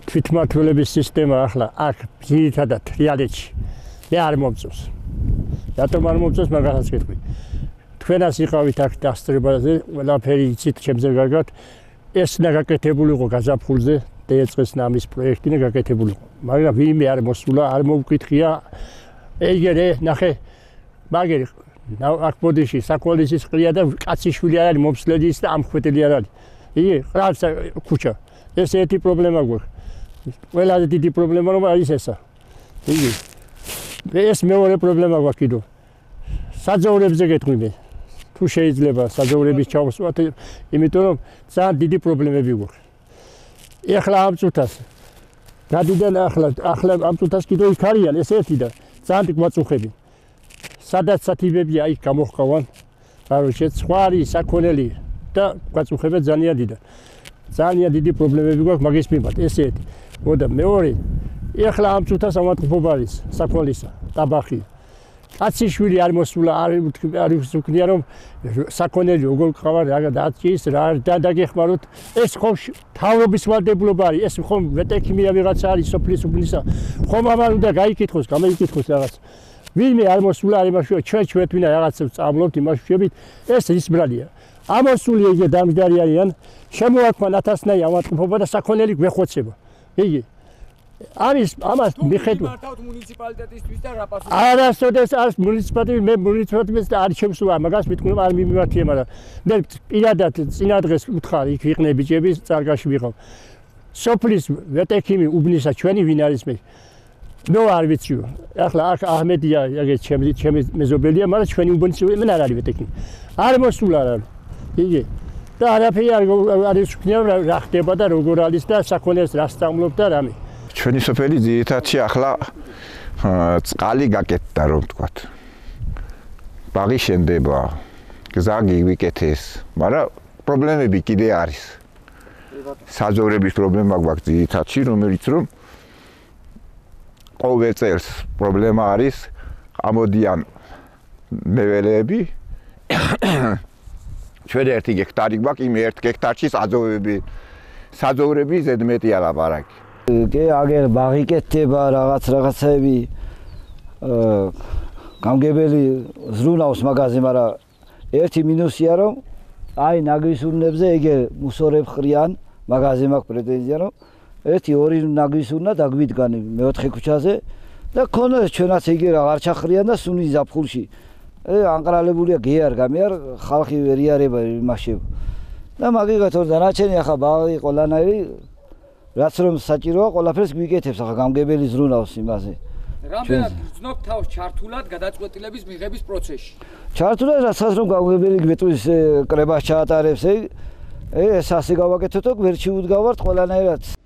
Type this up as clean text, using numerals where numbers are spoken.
თვითმმართველობის სისტემა ახლა აქ ძირითადად რეალეთში მე არ მომწონს. რატომ არ მომწონს მაგასაც გეტყვი. თქვენას იყავით აქ დასწრებაზე, ყველაფერი იცით ჩემზე გაგათ. ეს უნდა გაკეთებულიყო გაზაფხულზე, დაეწყეს ნამის პროექტი და გაკეთებულიყო. მაგრამ ვინმე არ მოსულა, არ მოვკითხია. ეგერე, ნახე, მაგერი აქ ბოდიში საკოლისის ყრია და კაციშვილი არ არის მომსვლელი და ამხვეტელი არ არის. იგი ყრავს ქუჩა. ეს ერთი პრობლემა გვაქვს. ყველაზე დიდი პრობლემა რომ არის ესა. იგი ეს მეორე პრობლემა გვაქვს კიდევ. საძოვრებზე გეტყვი მე. თუ შეიძლება საძოვრების ჩავსვათ, იმიტომ რომ ძალიან დიდი პრობლემები გვაქვს. ეხლა ამ წუთას გადიდან ახლა ამ წუთას კიდევ იქ არიან ეს ერთი და ძალიან გვაწუხები. სადაც სათიბებია იქ გამოხკავან. კაროჩე სხვა არის საქონელი და გვაწუხება ძალიან დიდად. ძალიან დიდი პრობლემები გვაქვს მაგის მიმართ. ეს ერთი. მოდა მეორე ეხლა ამ წუთას ავატყობა არის საქონლისა, ტაბახი. კაციშვილი არ მოსულა, არ ვსუქნია რომ საქონელი როგორ ყავარ რა დაჭის რა დაგეხმაროთ. ეს ხომ თავრობის ვალდებულობა არის. ეს ხომ ვეტექიმია ვიღაცა არის სოფლის უბნისა. ხომ ამან უნდა გაიკითხოს, გამოიკითხოს რაღაც. ვინმე არ მოსულა არ იმაში ჩვენ თვითონ რაღაცებს წამლობთ იმაში შევით. ეს ის ბრალია. ამოსული იგი დამჯდარი არიან. შემოაქვან ათასნაი ავატყობა და საქონელი გვეხოცება. იგი არის ამას მიხედვით მართავთ მუნიციპალიტეტისთვის და რა პასუხი არასოდეს არის მუნიციპალიტეტი მე მუნიციპალიტეტის და არ შემსულა მაგას მithქნა არ მიმართია მაგრამ მე პირადად წინა დღეს უთხარი იქ ვიყნე ბიჭები წარგაში ვიყავ სოფლის ვეტექიმი უბნისა ჩვენი ვინ არის მე ნუ არ ვიციო ახლა აქ აჰმედია ეგეც ჩემი მეზობელია მაგრამ ჩვენი უბნის მე არ არის ვეტექიმი არ მოსულა რა იგი და არაფერი არ ისქნია რა ხდება და როგორ არის და საქონელს რა სწავლობ და რამე ჩვენი სოფელი ძირითადში ახლა წყალი გაკეთდა რომ ვთქვათ. ბაღი შენდება, გზა გიგიკეთეს, მაგრამ პრობლემები კიდე არის. საძოვრების პრობლემა გვაქვს ძირითადში, რომელიც რომ ყოველ წელს პრობლემა არის, ამოდიან მეველეები. ჩვენ 1 ჰექტარი გვაქვს, იმ 1 ჰექტარში საძოვრები ზედმეტი ალაპარაკი. კი აგერ ბაღი კეთდება რაღაცები გამგებელი ზრუნავს მაგაზე მაგრამ ერთი მინუსია რომ აი ნაგვის ურნებზე ეგერ მუსორებს ხრიან მაგაზე მაქვს პრეტენზია რომ 1-2 ნაგვის ურნა დაგვიდგან მეოთხე ქუჩაზე და ქონდეს ჩვენაც ეგერ აღარ ჩახრიან და სუნის ზაფხულში ანყრალებულია გეარ გამიარ ხალხი ვერ იარება იმაში და მაგიგათ ორ დანარჩენი ახლა ბაღი ყველანაირი რაც რომ საჭიროა ყველაფერს გვიკეთებს ახლა გამგებელი ზრუნავს იმაზე. რამდენად გრძნობ თავს ჩართულად გადაწყვეტილების მიღების პროცესში? ჩართულად რასაც რომ გამგებელი გვეტყვის კრებას ჩაატარებს ეს ასე გავაკეთოთ და გვერდში უდგავართ ყველანაირად